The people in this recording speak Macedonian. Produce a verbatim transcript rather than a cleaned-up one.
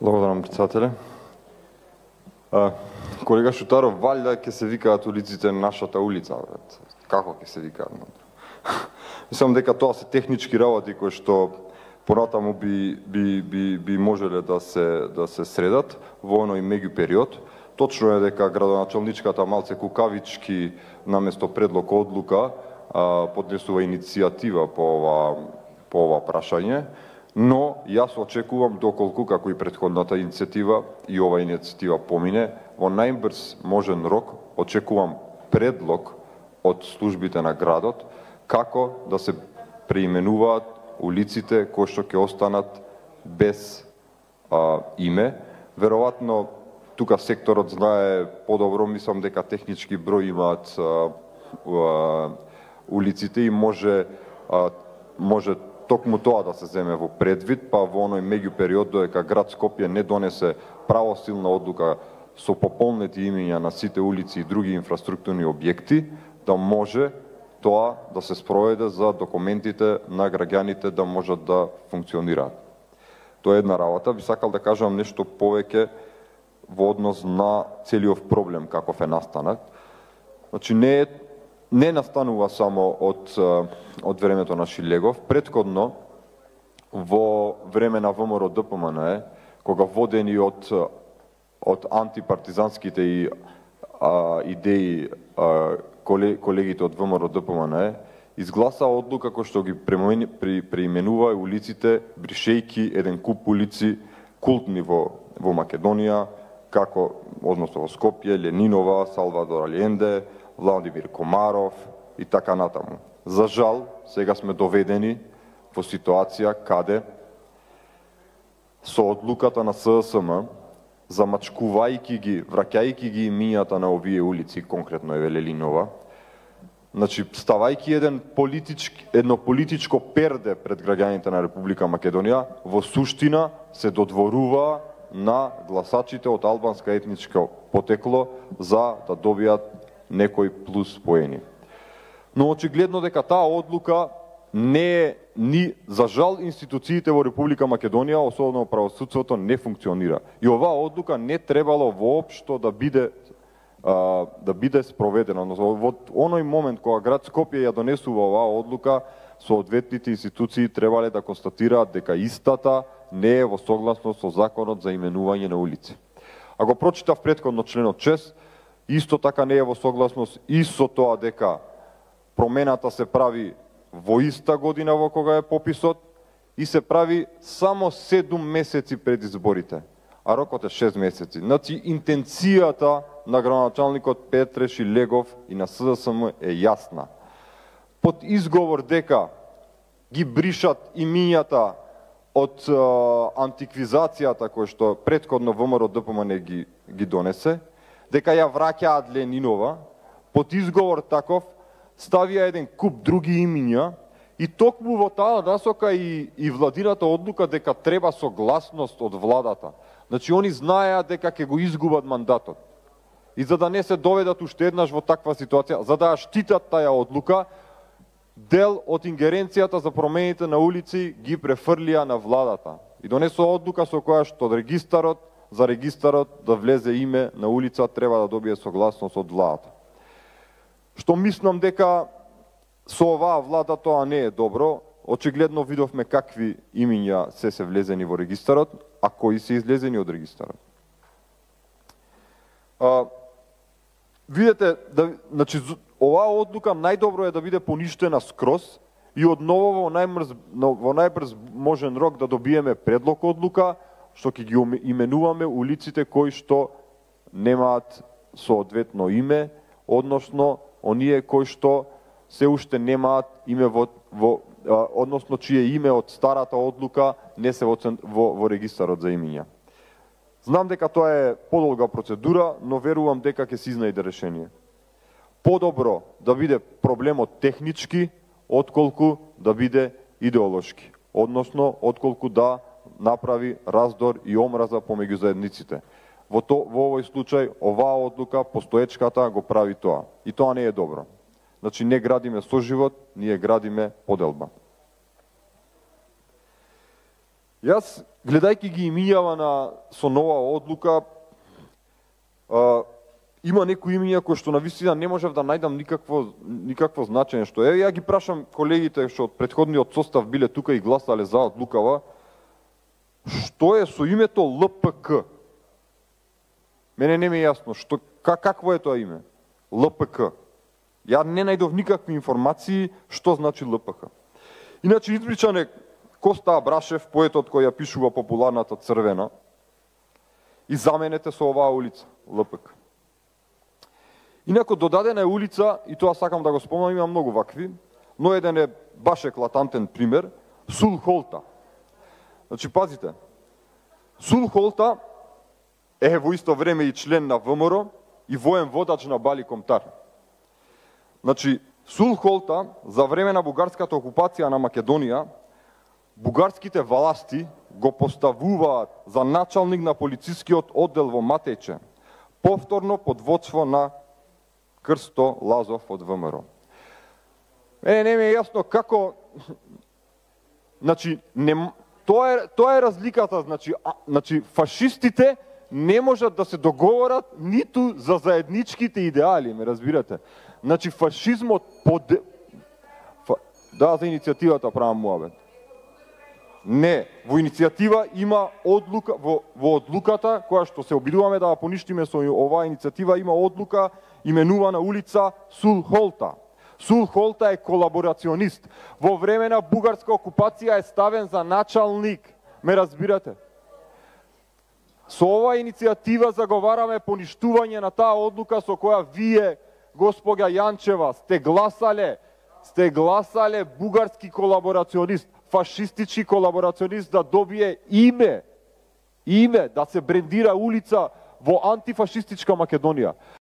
Благодарам, председателе. А, колега Шутаров, валјда ќе се викаат улиците нашата улица, брат. Како ќе се викаат? Мислам дека тоа се технички работи кои што понатаму би би би би можеле да се да се средат во оној меѓу период. Точно е дека градоначалничката малце кукавички наместо предлог одлука а, поднесува иницијатива по ова по ова прашање, но јас очекувам доколку како и претходната иницијатива и ова иницијатива помине во најбрз можен рок, очекувам предлог од службите на градот како да се преименуваат улиците кои што ќе останат без а, име. Веројатно тука секторот знае подобро, мислам дека технички број имаат а, а, улиците и може а, може токму тоа да се земе во предвид, па во оној меѓу период додека град Скопје не донесе правосилна одлука со пополнети имиња на сите улици и други инфраструктурни објекти, да може тоа да се спроведе за документите на граѓаните да можат да функционираат. Тоа е една работа. Би сакал да кажам нешто повеќе во однос на целиот проблем каков е настанат. Значи не е не настанува само од од времето на Шилегов. Претходно во време на ВМРО-ДПМН, кога водени од од антипартизанските и а, идеи а, колегите од ВМРО-ДПМН, изгласа одлука кој што ги преименува улиците, бришејки еден куп улици култни во во Македонија, како односно во Скопје, Ленинова, Салвадор Алиенде, Владимир Комаров и така натаму. За жал, сега сме доведени во ситуација каде со одлуката на ССМ, замачкувајќи ги, враќајќи ги имињата на овие улици, конкретно е Ленинова, значи ставајќи еден политички, едно политичко перде пред граѓаните на Република Македонија, во суштина се додворува на гласачите од албанска етничко потекло за да добијат некој плюс поени. Но очигледно дека таа одлука не е ни за жал институциите во Република Македонија, особено правосудството, не функционира. И оваа одлука не требало воопшто да биде а, да биде спроведена. Но во оној момент кога град Скопје ја донесува оваа одлука, соодветните институции требале да констатираат дека истата не е во согласност со законот за именување на улици. Ако прочитав претходно членот шест, исто така не е во согласност и со тоа дека промената се прави во иста година во кога е пописот и се прави само седум месеци пред изборите, а рокот е шест месеци. Значи, интенцијата на градоначалникот Петре Шилегов и на СДСМ е јасна. Под изговор дека ги бришат имињата од е, антиквизацијата кој што претходно ВМРО-ДПМН ги, ги донесе, дека ја враќаат Ленинова, под изговор таков ставија еден куп други имиња и токму во таа насока и, и владината одлука дека треба согласност од владата. Значи, они знаеа дека ќе го изгубат мандатот. И за да не се доведат уште еднаш во таква ситуација, за да ја штитат таја одлука, дел од ингеренцијата за промените на улици ги префрлија на владата. И донесува одлука со која што регистарот, за регистарот да влезе име на улица треба да добие согласност од владата. Што мислам дека со оваа влада тоа не е добро. Очигледно видовме какви имиња се се влезени во регистарот, а кои се излезени од регистарот. А, видете, да, значи, оваа одлука најдобро е да биде поништена скроз и одново во најбрз, во најбрз можен рок да добиеме предлог одлука, што ќе ги именуваме улиците кои што немаат соодветно име, односно оние кои што се уште немаат име во, во а, односно чие име од старата одлука не се во, во, во регистарот за имиња. Знам дека тоа е подолга процедура, но верувам дека ќе се изнајде решение. Подобро да биде проблемот технички, отколку да биде идеолошки, односно отколку да направи раздор и омраза помеѓу заедниците. Во, то, во овој случај, оваа одлука, постоечката, го прави тоа. И тоа не е добро. Значи, не градиме соживот, ние градиме поделба. Јас, гледајќи ги имињава на со нова одлука, а, има некои имиња кои што навистина не можев да најдам никакво никакво значење, што е, ја ги прашам колегите што од претходниот состав биле тука и гласале за одлукава, што е со името Л П К? Мене не ми е јасно, што, какво е тоа име? Л П К. Ја не најдов никакви информации што значи Л П К. Иначе избричан е Коста Абрашев, поетот кој ја пишува популарната Црвена, и заменете со оваа улица, Л П К. Инако додадена е улица, и тоа сакам да го спомнам, има многу вакви, но еден е баш еклатантен пример, Сул Холта. Значи, пазите, Сул Холта е во исто време и член на В М Р и воен водач на Бали Комтар. Значи, Сул Холта, за време на бугарската окупација на Македонија, бугарските власти го поставуваат за началник на полицискиот оддел во Матејче, повторно под водство на Крсто Лазов од В М Р. Е, не ми е јасно како... Значи, не... тоа, е, тоа е разликата, значи, а, значи, фашистите не можат да се договорат ниту за заедничките идеали, ме разбирате? Значи, фашизмот под... Фа... Да, за иницијативата правам муабет. Не, во иницијатива има одлука, во, во одлуката, која што се обидуваме да ја поништиме со оваа иницијатива, има одлука именувана улица Сул Холта. Сул Холта е колаборационист. Во време на бугарска окупација е ставен за началник. Ме разбирате? Со оваа иницијатива заговараме поништување на таа одлука со која вие, госпоѓа Јанчева, сте гласале, сте гласале бугарски колаборационист, фашистички колаборационист да добие име, име, да се брендира улица во антифашистичка Македонија.